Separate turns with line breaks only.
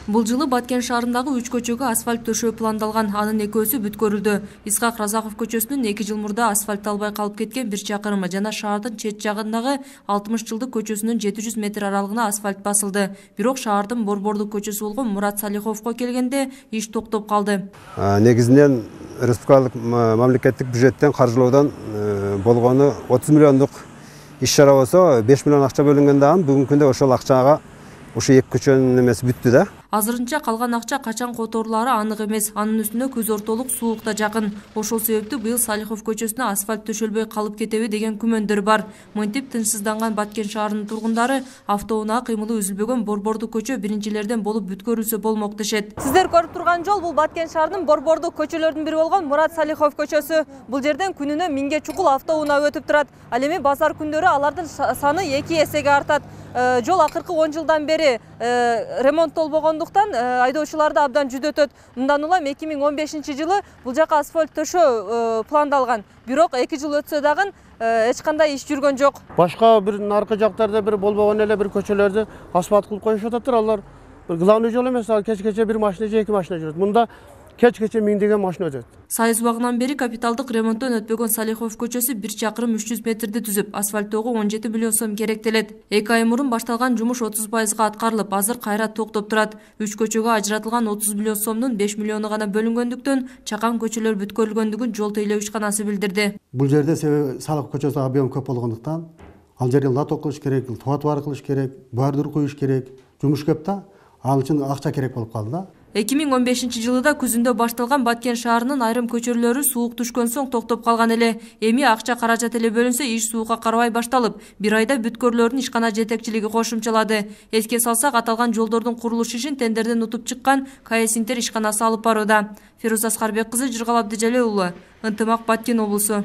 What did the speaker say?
Бул жылы Баткен шаарындагы 3 көчөгө асфальт төшөө пландалган, анын экөөсү бүткөрүлдү. Исхак Разаков көчөсүнүн 2 жыл мурда асфальтталбай калып кеткен 1 чакырымы жана шаардын чет жагындагы 60 жылдык көчөсүнүн 700 метр аралыгына асфальт басылды. Бирок шаардын борбордук көчөсү болгон Мурат Салиховго келгенде иш токтоп калды.
Негизинен республикалык мамлекеттик бюджеттен каржылоодон болгону 30 миллиондук иш-чара болсо 5 миллион акча бөлүнгөн дагы бүгүнкү күндө ошол акчага ушу 2 көчөнүн эмеси бүттү да.
Азырынча калган акча качан которулары анык эмес. Анын үстүнө күз ортолук суук да жакын. Ошол себептүү быйыл Салихов көчөсүнө асфальт төшөлбөй калып кетеби деген күмөндөр бар. Мынтип тынчсызданган Баткен шаарынын тургундары автоунаа кыймылы үзүлбөгөн борбордук көчө биринчилерден болуп бүткөрүлсө болмок дешет.
Сиздер көрүп турган жол бул Баткен шаарынын борбордук көчөлөрүнүн бири болгон Мурат Салихов көчөсү. Бул жерден күнүнө 1000ге чукул автоунаа өтүп турат. Ал эми базар күндөрү алардын саны 2 эсеге артат. Жол акыркы 10 жылдан бери ремонттолбогондуктан айдоочуларды абдан жүдөтөт. Мындан улам 2015 жылы бул жака асфальт төшөө пландалган. Бирок 2 жыл өтсө дагы эч кандай иш жүргөн жок.
Башка бир наркы жактарда бир болбогон эле бир көчөлөрдү асфальт кылып коюшуп атат. Алар бир главный жол эмес, кеч-кече бир машина же 2 машина жүрөт. Мында кеч-кече 1000 машина өтөт.
Сайыс убагынан бери капиталдык ремонттон өтпөгөн Салихов көчөсү 1 чакырым 300 метрди түзүп, асфальттоого 17 миллион сом керектелет. 2 ай мурун башталган жумуш 30%га аткарылып, азыр кайра токтоп турат. 3 көчөгө ажыратылган 30 миллион сомдун 5 миллиону гана бөлүнгөндүктөн чакан көчөлөр бүткөрүлгөндүгүн жол тейлөө ишканасы билдирди.
Бул жерде себеби Салихов көчөсү объем көп болгондуктан, ал жерге лото кылыш керек, тротуар кылыш керек, бордюр коюш керек, жумуш көп да, ал үчүн акча керек болуп калды да.
2015 жылыда күзүндө башталган Баткен шаарынын айрым көчөлөрү суук түшкөн соң токтоп калган эле. Эми акча каражат эле бөлүнсө, иш суукка карабай башталып, 1 айда бүткөрүлөрүн ишкана жетекчилиги кошумчалады. Эске салсак, аталган жолдордун курулуш ишин тендерден утуп чыккан КС Интер ишканасы алып барууда. Фируза Аскарбек кызы, Жыргал Абдыжалил уулу, Ынтымак, Баткен облусу.